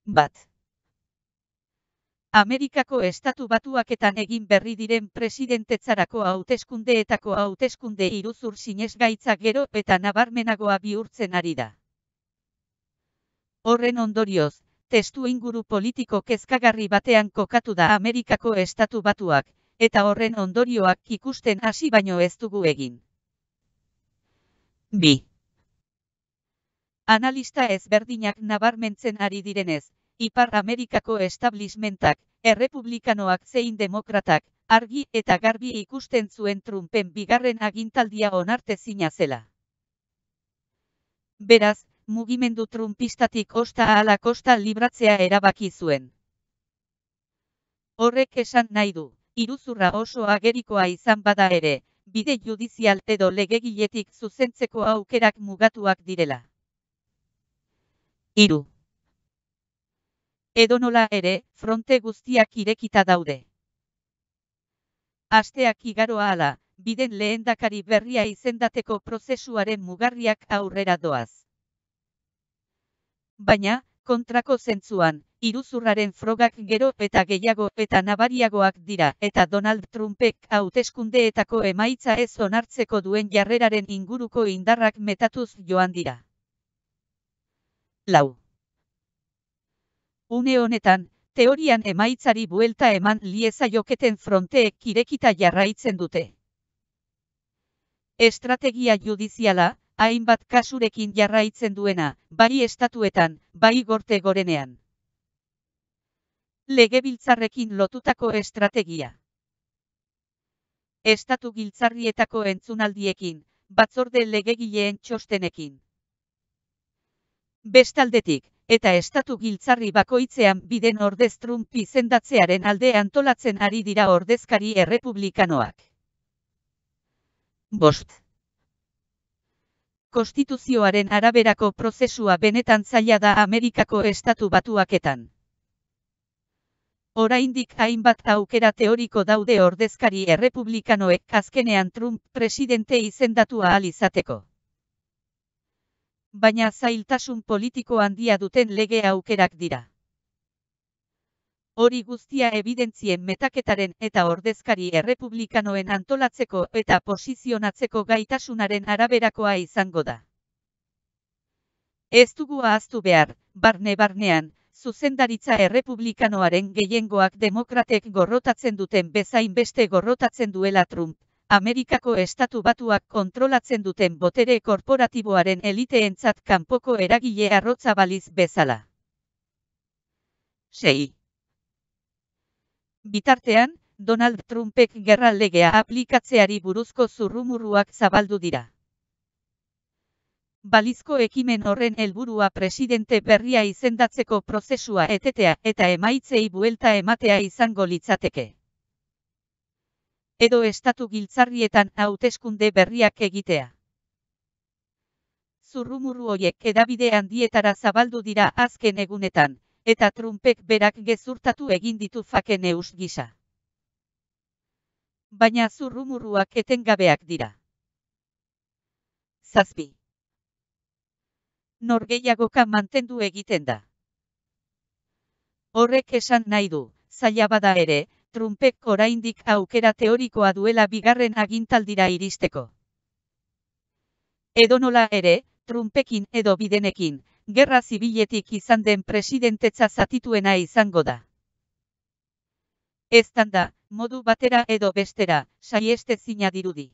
Bat. Amerikako Estatu Batuaketan egin berri diren presidentetzarako hauteskundeetako hauteskunde iruzur sinesgaitza gero eta nabarmenagoa bihurtzen ari da. Horren ondorioz, testuinguru politiko kezkagarri batean kokatu da Amerikako Estatu Batuak, eta horren ondorioak ikusten hasi baino ez dugu egin. 2. Analista ezberdinak nabarmentzen ari direnez, Ipar Amerikako establishmentak, errepublikanoak zein demokratak, argi eta garbi ikusten zuen Trumpen bigarren agintaldia onartezina zela. Beraz, mugimendu trumpistatik osta ala kosta libratzea erabaki zuen. Horrek esan nahi du, iruzurra oso agerikoa izan bada ere, bide judizial edo legegiletik zuzentzeko aukerak mugatuak direla. 3. Edonola ere, fronte guztiak irekita daude. Asteak igaro ahala, Biden lehendakari berria izendateko prozesuaren mugarriak aurrera doaz. Baina, kontrako zentzuan, iruzurraren frogak gero eta gehiago eta nabariagoak dira eta Donald Trumpek hauteskundeetako emaitza ez onartzeko duen jarreraren inguruko indarrak metatuz joan dira. 4. Une honetan, teorian emaitzari buelta eman liezaioketen fronteek irekita jarraitzen dute. Estrategia judiziala, hainbat kasurekin jarraitzen duena, bai estatuetan, bai gorte gorenean. Legebiltzarrekin lotutako estrategia. Estatu giltzarrietako entzunaldiekin, batzorde legegileen txostenekin. Bestaldetik, eta estatu giltzarri bakoitzean Biden ordez Trump izendatzearen alde antolatzen ari dira ordezkari errepublikanoak. 5. Konstituzioaren araberako prozesua benetan zaila da Amerikako Estatu Batuaketan. Oraindik hainbat aukera teoriko daude ordezkari errepublikanoek azkenean Trump presidente izendatu ahal izateko. Baina zailtasun politiko handia duten lege aukerak dira. Hori guztia ebidentzien metaketaren eta ordezkari errepublikanoen antolatzeko eta posizionatzeko gaitasunaren araberakoa izango da. Ez dugu ahaztu behar, barne-barnean, zuzendaritza errepublikanoaren gehiengoak demokratek gorrotatzen duten bezain beste gorrotatzen duela Trump, Amerikako Estatu Batuak kontrolatzen duten botere korporatiboaren eliteentzat kanpoko eragile arrotza baliz bezala. 6. Bitartean, Donald Trumpek gerra legea aplikatzeari buruzko zurrumurruak zabaldu dira. Balizko ekimen horren helburua presidente berria izendatzeko prozesua etetea eta emaitzei buelta ematea izango litzateke. Edo estatu giltzarrietan hauteskunde berriak egitea. Zurrumurru horiek hedabide handietara zabaldu dira azken egunetan, eta Trumpek berak gezurtatu egin ditu fake news gisa. Baina zurrumurruak etengabeak dira. 7. Norgehiagoka mantendu egiten da. Horrek esan nahi du, zaila bada ere, Trumpek oraindik aukera teorikoa duela bigarren agintaldira iristeko. Edonola ere, Trumpekin edo Bidenekin, gerra zibiletik izan den presidentetza zatituena izango da. Eztanda, modu batera edo bestera, sahiestezina dirudi.